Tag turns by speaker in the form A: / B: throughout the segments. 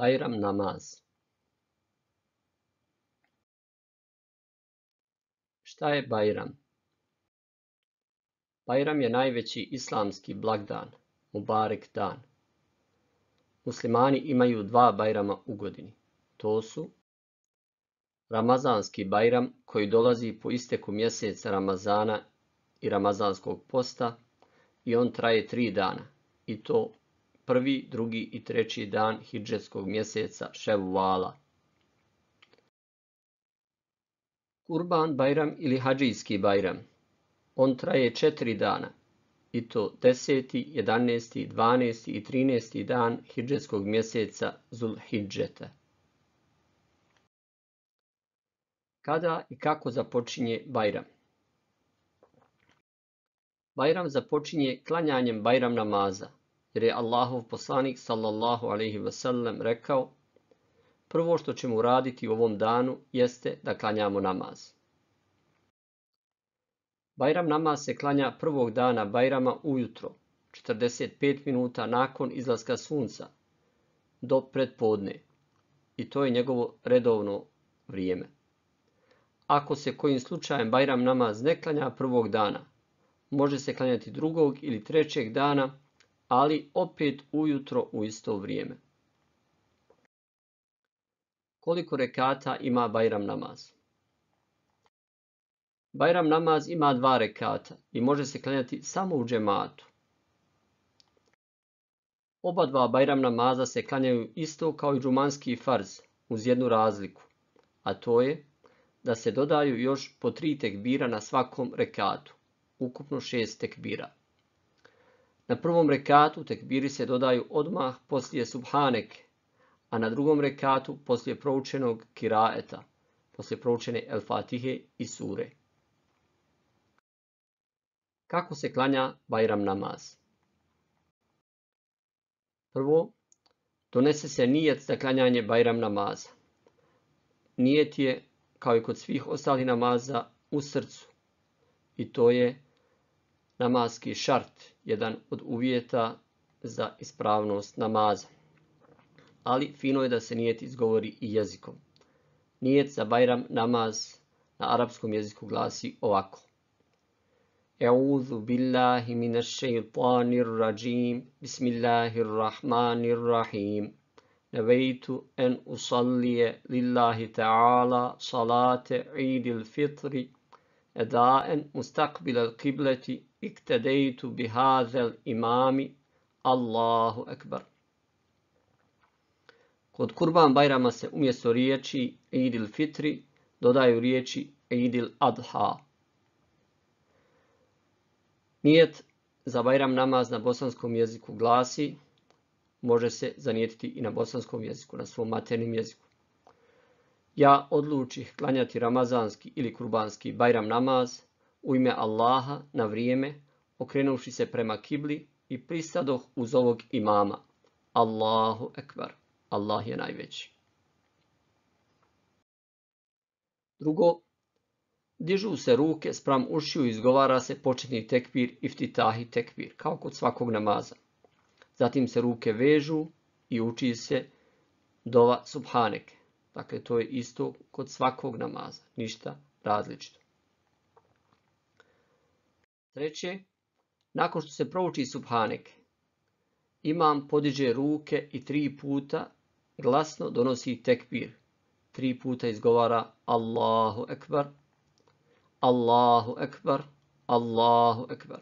A: Bajram namaz. Šta je Bajram? Bajram je najveći islamski blagdan, Mubarek dan. Muslimani imaju dva Bajrama u godini. To su Ramazanski Bajram koji dolazi po isteku mjeseca Ramazana i Ramazanskog posta i on traje 3 dana. I to prvi, drugi i treći dan hidžetskog mjeseca Ševvala. Kurban Bajram ili Hadžijski Bajram. On traje 4 dana. I to 10., 11., 12. i 13. dan hidžetskog mjeseca Zulhidžeta. Kada i kako započinje Bajram? Bajram započinje klanjanjem Bajram namaza, jer je Allahov poslanik sallallahu alejhi ve sellem rekao: prvo što ćemo uraditi u ovom danu jeste da klanjamo namaz. Bajram namaz se klanja prvog dana Bajrama ujutro, 45 minuta nakon izlaska sunca, do predpodne. I to je njegovo redovno vrijeme. Ako se kojim slučajem Bajram namaz ne klanja prvog dana, može se klanjati drugog ili trećeg dana, ali opet ujutro u isto vrijeme. Koliko rekata ima Bajram namaz? Bajram namaz ima 2 rekata i može se klanjati samo u džematu. Oba dva Bajram namaza se klanjaju isto kao i džumanski farz, uz jednu razliku, a to je da se dodaju još po 3 tekbira na svakom rekatu, ukupno 6 tekbira. Na prvom rekatu tekbiri se dodaju odmah poslije subhaneke, a na drugom rekatu poslije proučenog kiraeta, poslije proučene El Fatihe i sure. Kako se klanja Bajram namaz? Prvo, donese se nijet za klanjanje Bajram namaza. Nijet je, kao i kod svih ostalih namaza, u srcu. I to je namazski šart, jedan od uvjeta za ispravnost namaza. Ali fino je da se nijet izgovori i jezikom. Nijet za Bajram namaz na arapskom jeziku glasi ovako: E'udhu billahi minash shaytanir rajim, bismillahirrahmanirrahim. Nevejtu en usallije lillahi ta'ala salate idil fitri, edaen mustaqbilal qibleti, iktedejtu bihazel imami, Allahu ekbar. Kod Kurban Bajrama se umjesto riječi idil fitri dodaju riječi idil adha. Nijet za Bajram namaz na bosanskom jeziku glasi, može se zanijetiti i na bosanskom jeziku, na svom maternjem jeziku: ja odlučih klanjati ramazanski ili kurbanski Bajram namaz u ime Allaha na vrijeme, okrenuvši se prema kibli i pristadoh uz ovog imama. Allahu ekbar, Allah je najveći. Drugo, dižu se ruke spram ušiju i izgovara se početni tekbir iftitahi tekbir, kao kod svakog namaza. Zatim se ruke vežu i uči se dova subhaneke. Dakle, to je isto kod svakog namaza, ništa različito. Treće, nakon što se prouči subhaneke, imam podiže ruke i 3 puta glasno donosi tekbir. 3 puta izgovara Allahu ekbar, Allahu ekbar, Allahu ekbar.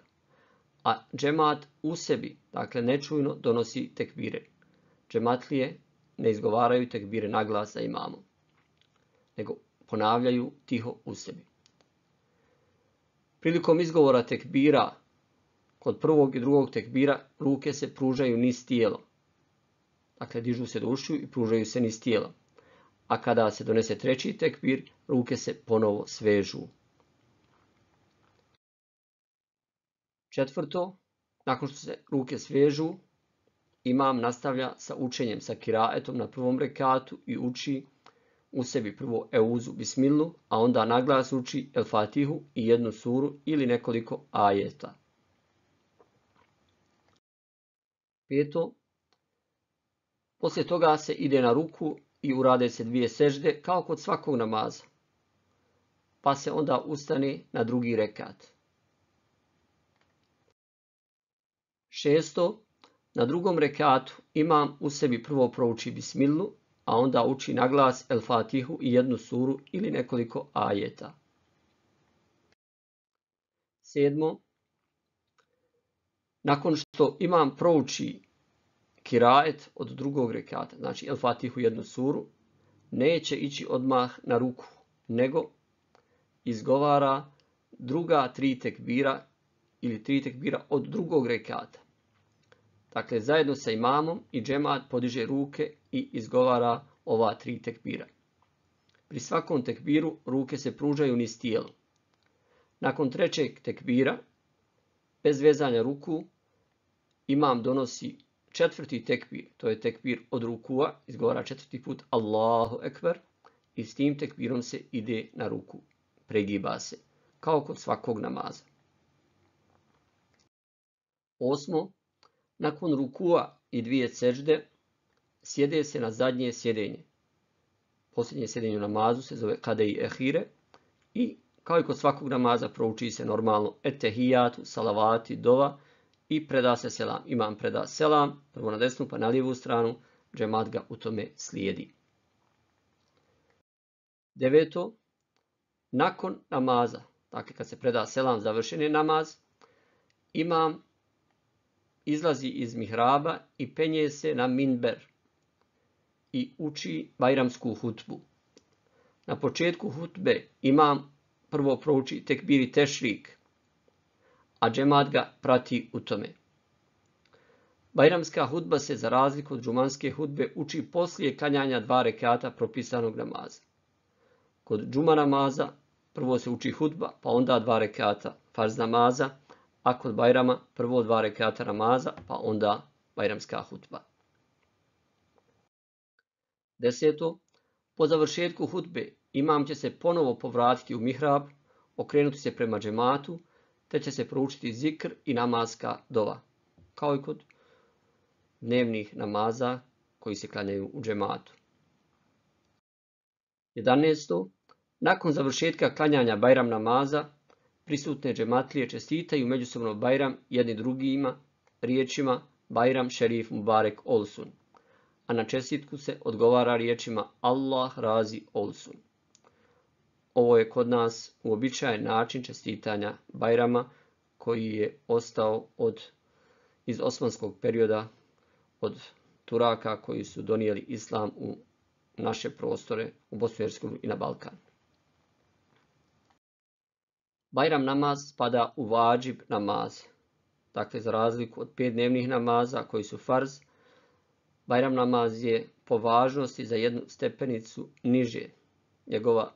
A: A džemat u sebi, dakle nečujno, donosi tekbire. Džematlije ne izgovaraju tekbire naglas za imamom, nego ponavljaju tiho u sebi. Prilikom izgovora tekbira, kod prvog i drugog tekbira, ruke se pružaju niz tijela. Dakle, dižu se do ušiju i pružaju se niz tijela. A kada se donese treći tekbir, ruke se ponovo svežu. Četvrto, nakon što se ruke svežu, imam nastavlja sa učenjem, sa kiraetom na prvom rekatu i uči u sebi prvo Euzu Bismillu, a onda naglas uči El Fatihu i jednu suru ili nekoliko ajeta. Peto, Poslije toga se ide na ruku i urade se 2 sežde kao kod svakog namaza. Pa se onda ustane na drugi rekat. 6. Na drugom rekatu imam u sebi prvo prouči bismilu, a onda uči na glas El Fatihu i jednu suru ili nekoliko ajeta. 7. Nakon što imam prouči kirajet od drugog rekata, znači El Fatihu i jednu suru, neće ići odmah na ruku, nego izgovara druga 3 tekbira ili 3 tekbira od drugog rekata. Dakle, zajedno sa imamom i džemat podiže ruke i izgovara ova 3 tekbira. Pri svakom tekbiru ruke se pružaju niz tijelo. Nakon 3. tekbira, bez vezanja ruku, imam donosi 4. tekbir, to je tekbir od rukua, izgovara 4. put Allahu Ekber i s tim tekbirom se ide na ruku, pregiba se, kao kod svakog namaza. 8. Nakon rukua i 2 sežde, sjede se na zadnje sjedenje. Posljednje sjedenje u namazu se zove Kadei Ehire i kao i kod svakog namaza prouči se normalno etehijatu, salavati, dova i preda se selam. Imam preda selam, prvo na desnu pa na lijevu stranu, džemat ga u tome slijedi. 9. Nakon namaza, dakle kad se preda selam, završen je namaz, imam izlazi iz mihraba i penje se na minber i uči bajramsku hutbu. Na početku hutbe imam prvo prouči tekbiri tešrik, a džemat ga prati u tome. Bajramska hutba se za razliku od džumanske hutbe uči poslije klanjanja 2 rekata propisanog namaza. Kod džuma namaza prvo se uči hutba, pa onda 2 rekata farz namaza, a kod bajrama prvo 2 rekata namaza, pa onda bajramska hutba. 10. Po završetku hutbe imam će se ponovo povratiti u mihrab, okrenuti se prema džematu, te će se proučiti zikr i namazska dova, kao i kod dnevnih namaza koji se klanjaju u džematu. 11. Nakon završetka klanjanja bajram namaza, prisutne džematlije čestitaju međusobno bajram jedni drugima riječima Bajram Šerif Mubarek Olsun, a na čestitku se odgovara riječima Allah razi Olsun. Ovo je kod nas uobičajen način čestitanja bajrama koji je ostao iz osmanskog perioda od Turaka koji su donijeli islam u naše prostore, u Bosnu i Hercegovinu i na Balkan. Bajram namaz spada u vađib namaz. Dakle, za razliku od 5 dnevnih namaza koji su farz, bajram namaz je po važnosti za jednu stepenicu niže. Njegova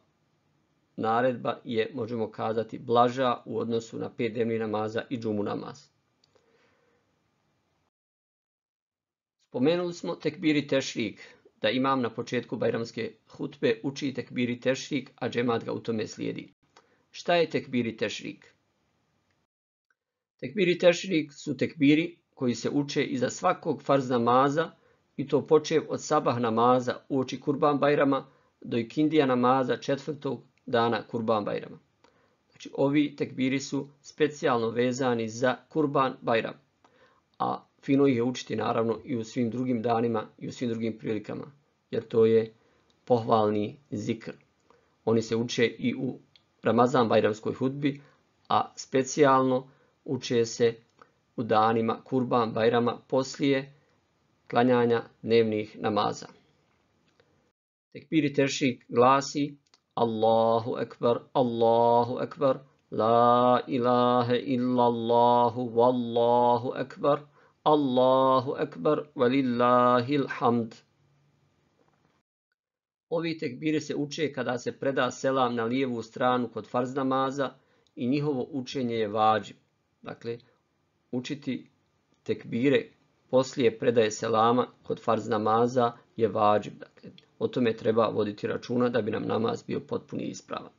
A: naredba je, možemo kazati, blaža u odnosu na 5 dnevnih namaza i džumu namaz. Spomenuli smo tekbiri tešrik, da imam na početku bajramske hutbe uči tekbiri tešrik, a džemat ga u tome slijedi. Šta je tekbiri tešrik? Tekbiri tešrik su tekbiri koji se uče iza svakog farz namaza i to počev od sabah namaza uoči Kurban bajrama do ikindija namaza 4. dana Kurban bajrama. Znači, ovi tekbiri su specijalno vezani za Kurban bajram, a fino ih je učiti naravno i u svim drugim danima i u svim drugim prilikama, jer to je pohvalni zikr. Oni se uče i u Ramazan bajramskoj hudbi, a specijalno uče se u danima Kurban bajrama poslije klanjanja dnevnih namaza. Tekbiri tešrik glasi Allahu ekber, la ilaha illallahu, wallahu ekber, Allahu ekber, velillahil hamd. Ovi tekbiri se uče kada se preda selam na lijevu stranu kod farz namaza i njihovo učenje je vađib. Dakle, učiti tekbire poslije predaje selama kod farz namaza je vađib. Dakle, o tome treba voditi računa da bi nam namaz bio potpuni i ispravan.